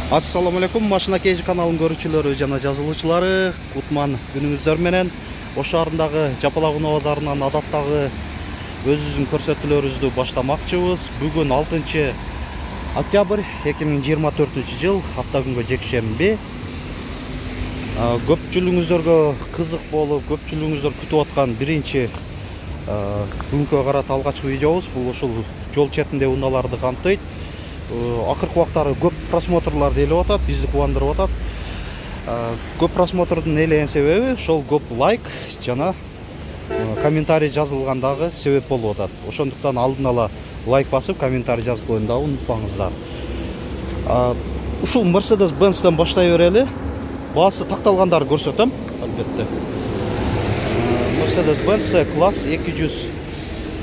Assalamu alaikum, Машина Кейжи каналын көрүүчүлөрү жана жазылуучулары. Кутман күнүңүздөр менен. Ош шаарындагы Жапалакуноо базарынан адаттагы өзүбүздүн көрсөтүүлөрүбүздү баштамакчыбыз. Бүгүн 6 октябрь 2024 жыл, аптагүнгө жекшемби. Көпчүлүгүңүздөргө кызык болуп, көпчүлүгүңүздөр күтүп аткан биринчи бүгүнкү карата алгачкы видеобуз. Бул ушул жол четинде унааларды камтыйт. Акыркы убактары көп просмотрлар делип атат, бизди кубандырып атат. Көп просмотрдун элеген себеби ошол көп лайк жана комментарий жазылгандагы себеп болуп атат. Ошондуктан алдын ала лайк басып, комментарий жазып коюуну дагы унутпаңыздар. Ушул Mercedes-Benz'ден баштай берели. Баасы такталгандарды көрсөтөм, албетте. Mercedes-Benz C-класс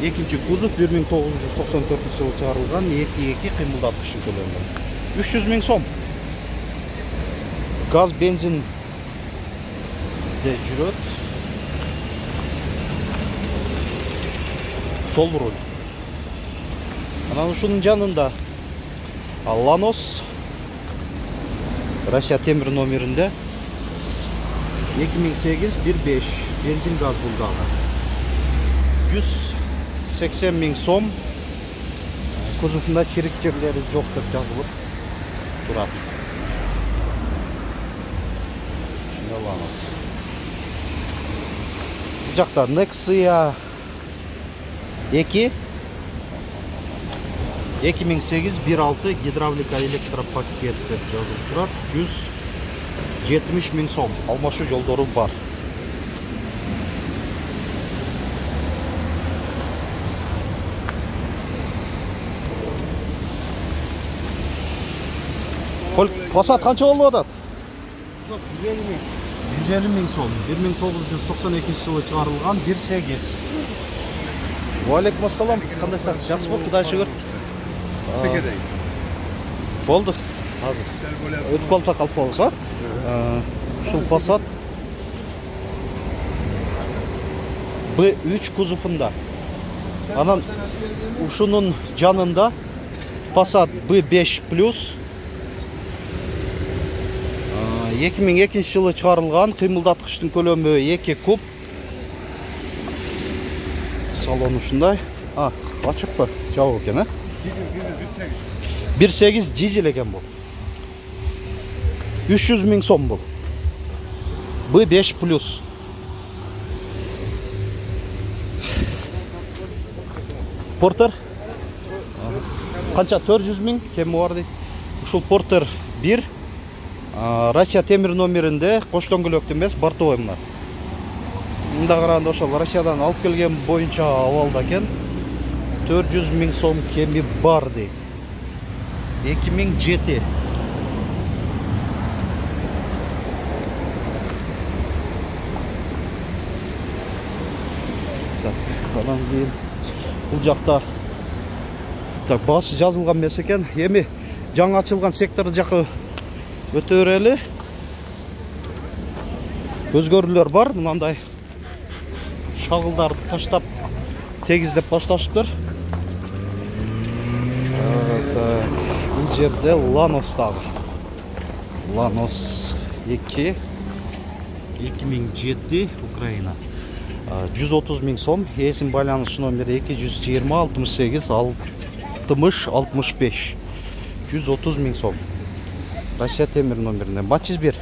202 кузов 1994 жылы чыгарылган 2.2 кыймылдаткычын көлөмү. 300 000 сом. Газ, бензин де жүрөт. Сол руль. Анан ушунун жанында Lanos Россия темир номеринде 2008-15 бензин газ булдагы. 180 000 сом. Кузовунда чирик жерлери жок деп жазылып турат. Шундалабыз. Бул жакта Nexia 2 2008-16 гидравлика электропакет деп жазылып турат. 170 000 сом. Алмашуу жолдору бар. Passat канча болуп атат? 150 000 сом. 1992 жылы чыгарылган 1.8. Валейкум ассалам. Кандайсың? Жакшы болуп, Кудайга шүгүр. Болду. Азыр. Өтүп калсак алып калабыз, а? Ушул Passat B3 кузовунда. Анан ушунун жанында Passat B5 Plus 2002 жылы чыгарылган кыймылдаткычтын көлөмү 2 куб. Салон ушундай. Ачыкпы? Жабык экен, а? 1.8 дизель экен бул. 300 000 сом бул. B5 Plus. Porter канча 400 000 кеми бар дейт. Ушул Porter 1 Россия темир номеринде кош дөңгөлөктү эмес, бортовой мына. Мында караганда ошол Россиядан алып келген боюнча абалда экен. 400 000 сом кеми бар дейт. 2007. Анан кийин бул жакта баасы жазылган эмес экен. Эми жаңы ачылган сектор жакы өтө берели. Өзгөрүүлөр бар, мындай шагылдарды таштап, тегиздеп башташыптыр. Бул жерде Lanos дагы. Lanos 2 2007 Украина. 130 000 сом, эсим байланыш номери 220 68 60 65. 130 000 сом. Россия темир номеринде. Matiz 1.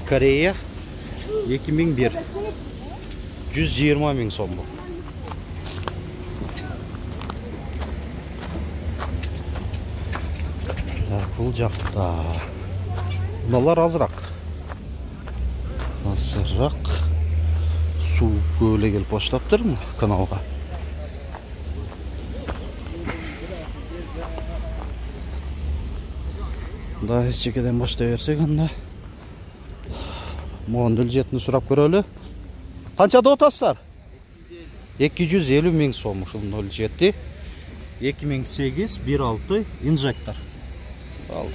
Корея 2001. 120 000 сом. Бул жакта мыналар азыраак. Суу көлө келип баштаптыр каналга. Да чекеден баштай берсек анда. Могун дөлжетini сурап көрөлү. Канча деп атасыздар? 250 000 сом ушул 07 2008-16 инжектор. Ал.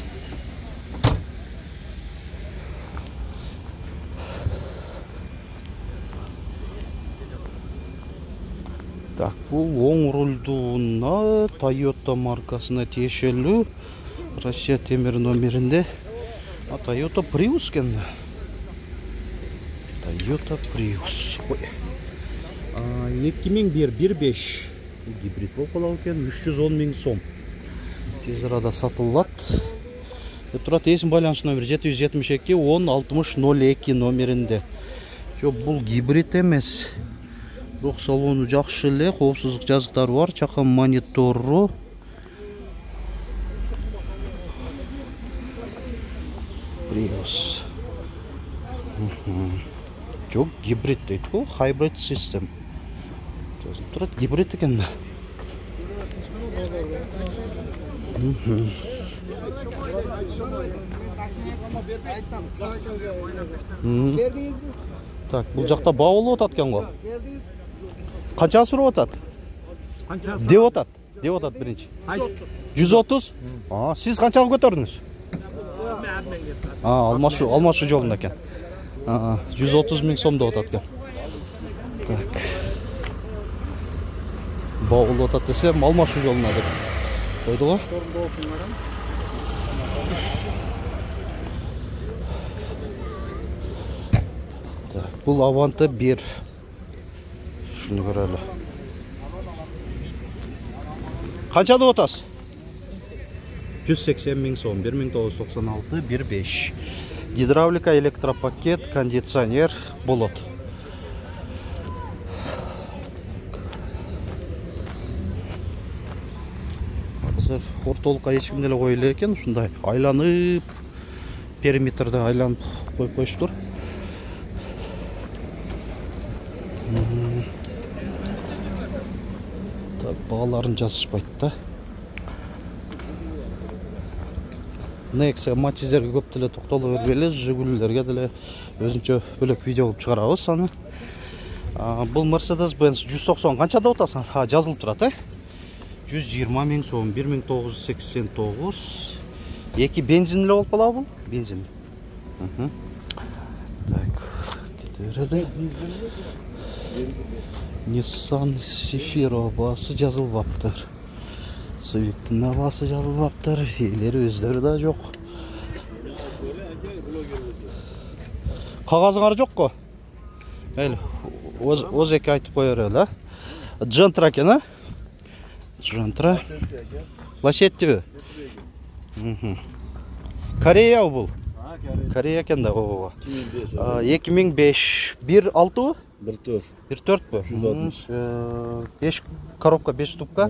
Так, бул оң рулдууна Toyota маркасына тиешелүү. Россия темир номеринде. Toyota Prius экен. Toyota Prius. 2001-15 гибрид болуп калат экен, 310 000 сом. Тез арада сатылат. Турат эсим байланыш номер 772 10 60 02 номеринде. Жок, бул гибрид эмес. Бирок салону жакшы эле, коопсуздук жазыктары бар, чакан монитору. Prius. Жок, гибрид дейт го, hybrid system. Жазылып турат, гибрид экен да. Так, бул жакта баа болуп атат экен го. Канча сурап атат? Деп атат биринчи. 130? Сиз канчага көтөрдүңүз? Алмашу жолунда экен. 130 000 сом деп атат экен. Так. Баа болуп атат десем, алмашу жолуна деп койду го. Так, бул Avante 1. Шуну көрөлү. Канча деп атасыз? 180 000 сом, 1996 1.5. Гидравлика, электропакет, кондиционер болот. Азыр ортолукка эч ким деле кое элек экен, ушундай айланып, периметрде айланып коюп коюштур. Так, бааларын жазышпайт да. Nexia Matiz'lerге көп деле токтоло бербейли, Жигулилерге деле өзүнчө бөлөк видео кылып чыгарабыз аны. Бул Mercedes-Benz 190 канча деп атасың? Жазылып турат, 120 000 сом, 1989. Эки бензин эле болуп калабы бул? Бензин. Так, кете берели. Nissan Sefiro баасы жазылбаптыр. Civic'tin баасы жазылбаптыр. Элери өздөрү да жок. Кагазыңар жокко? Мейли, оз эки айтып кое берели, Gentra экен, Gentra. Лачеттиби? Корея бул. Корея экен да, 2005. 1.6? 1.4. 5 коробка, 5 ступка.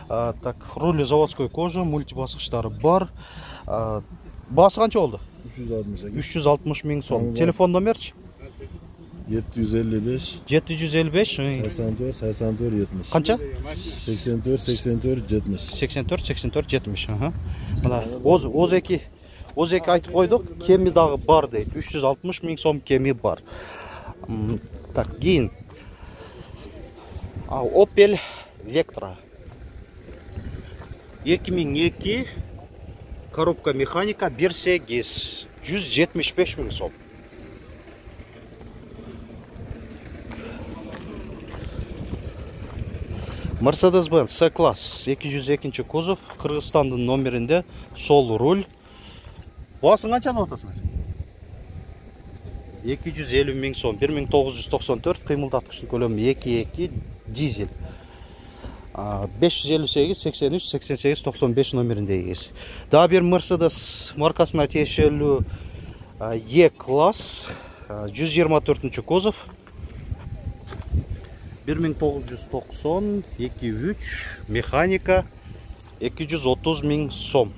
Так, руль заводской кожа, мультибаскычтары бар. Баасы канча болду? 360 000 сом. Телефон номерчи? 755 84 70. Канча? 84 70. 84 70. Мына оз эки айтып койдук, кеми дагы бар дейт. 360 000 сом кеми бар. Так, кийин Opel Vectra 2002 коробка механика 1.8 175 000 сом. Mercedes-Benz C-класс 202 кузов, Кыргызстандын номеринде, сол руль. Баасын канча деп атасыңар? 250 000 сом, 1994, кыймылдаткычтын көлөмү 2.2 дизель. 558 83 88 95 номеринде эгеси. Дагы бир Mercedes маркасына тиешелүү E-класс 124 кузов, 1990 2.3 механика 230 000 сом.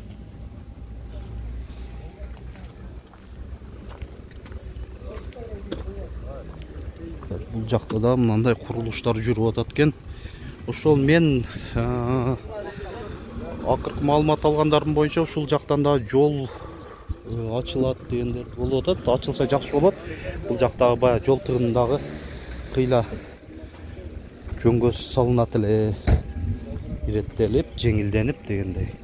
Бул жакта да мындай курулуштар жүрүп атат экен. Ошол мен акыркы маалымат алгандарым боюнча ушул жактан да жол ачылат дегендер болуп атат. Ачылса жакшы болот. Бул жактагы баягы жол тыгынындагы кыйла жөнгө салынат эле, иреттелип, жеңилденип дегендей.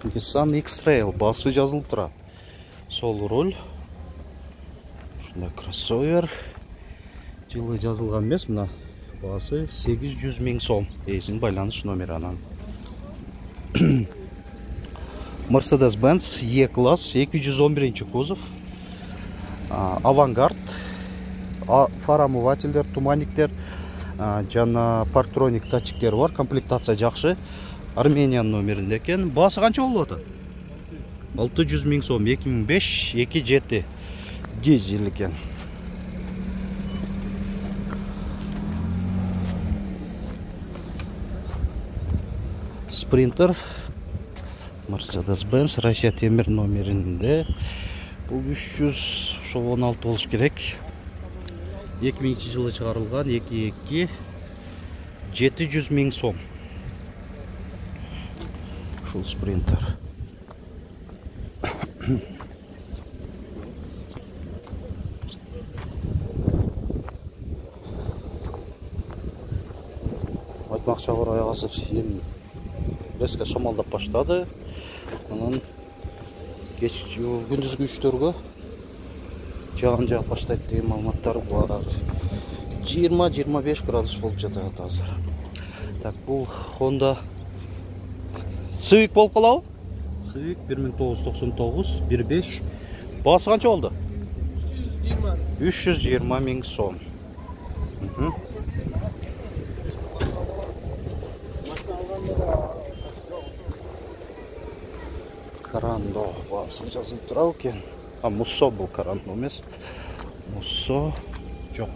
Nissan X-Trail баасы жазылып турат. Сол руль. Ушундай кроссовер. Жылы жазылган эмес, мына Баасы 800 000 сом. Эсин байланыш номери анан. Mercedes-Benz E-класс 211 кузов. Авангард. Фар омывательдер, туманниктер, жана парктроник датчиктер бар. Комплектация жакшы. Армениянын номеринде экен. Баасы канча болуп атат? 600 000 сом. 2005 2.7 дизель экен. Спринтер Mercedes-Benz Россия темир номеринде. Бул 316 болуш керек. 2000 жылы чыгарылган 2.2 700 000 сом. Ушул спринтер. Айтмакчы бар, азыр эми резко шамалдап баштады. Анан күндүзгү үчтөргө жаан жаап баштайт деген маалыматтар бар. 20-25 градус болуп жатат азыр. Так, бул Honda Civic болуп калабы? Civic 1999 1.5. Баасы канча болду? 320 000 сом. Карандо баасы жазылып турабы экен. Муссо бул Карандо эмес. Муссо жок.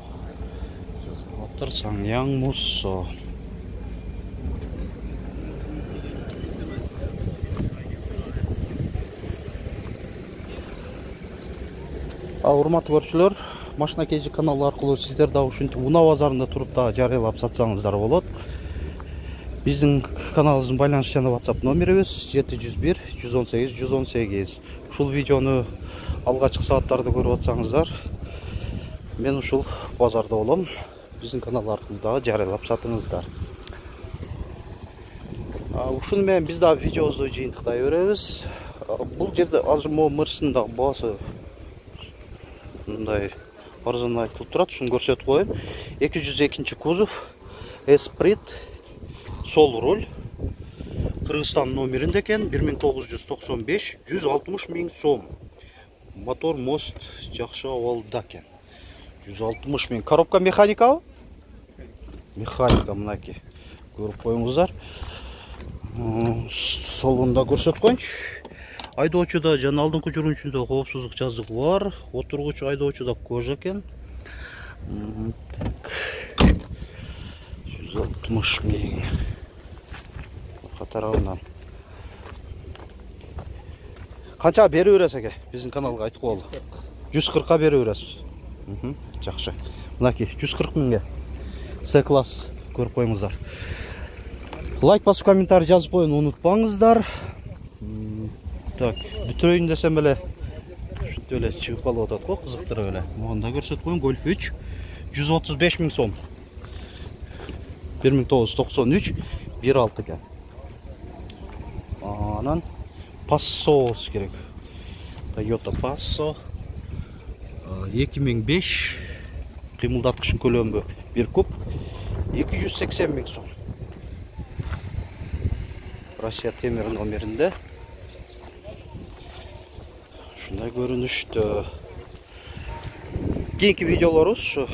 Отыр Саңяң Муссо. Урматтуу көрүүчүлөр, Машина Кежи каналы аркылуу сиздер да ушинтип унаа базарында туруп да жарыялап сатсаңыздар болот. Биздин каналыбыздын байланыш жана WhatsApp номерибиз 701 118 118. Ушул видеону алгачкы сааттарда көрүп атсаңыздар, мен ушул базарда болом. Биздин канал аркылуу дагы жарыялап сатыңыздар. Ушуну менен биз дагы видеобузду жыйынтыктай беребиз. Бул жерде азыр Мерстин дагы баасы мындай арзан айтылып турат, ушуну көрсөтүп коеюн. 202 кузов, Esprit, сол руль. Кыргызстан номеринде экен, 1995 160 000 сом. Мотор, мост жакшы абалда экен. 160 000. Коробка механикабы? Механика мынакей. Көрүп коюңуздар. Солунда көрсөтүп коюнчу. Айдоочуда жана алдыңкы жүргүнчүндө коопсуздук жазыгы бар. Отургуч айдоочуда кожа экен. 160 000. Катарабынан. Канча берип бересиз эке? Биздин каналга айтып коелу. 140 берип бересиз. Жакшы. Мынакей 140 000ге. С-класс көрүп коюңуздар. Лайк басып, комментарий жазып коюуну унутпаңыздар. Так, бүтөйүн десем эле ушинтип эле чыгып калып атат го, кызыктырып эле. Мында көрсөтүп коюн, Golf 3 135 000 сом. 1993 1.6 экен. Анан Passo болуш керек. Toyota Passo 2005 кыймылдаткычын көлөмү 1 куб 280 000 сом. Россия темир номеринде. Ушундай көрүнүштө. Кийинки видеолорубуз ушу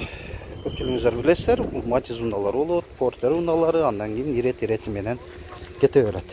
көпчүлүгүңүздөр билесиздер, Матиз унаалары болот, Портер унаалары, андан кийин ирети менен кете берет.